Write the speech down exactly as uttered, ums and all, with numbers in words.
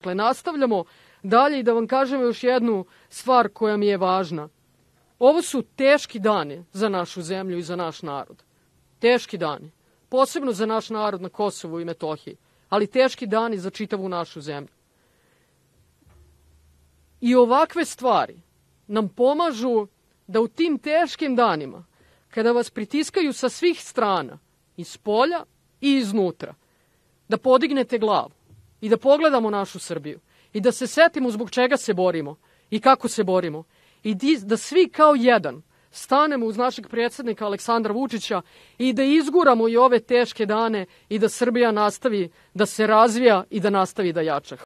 Dakle, nastavljamo dalje i da vam kažem još jednu stvar koja mi je važna. Ovo su teški dani za našu zemlju i za naš narod. Teški dani. Posebno za naš narod na Kosovu i Metohiji, ali teški dani za čitavu našu zemlju. I ovakve stvari nam pomažu da u tim teškim danima, kada vas pritiskaju sa svih strana, iz polja i iznutra, da podignete glavu i da pogledamo našu Srbiju i da se setimo zbog čega se borimo i kako se borimo i da svi kao jedan stanemo uz našeg predsjednika Aleksandra Vučića i da izguramo i ove teške dane i da Srbija nastavi da se razvija i da nastavi da jača.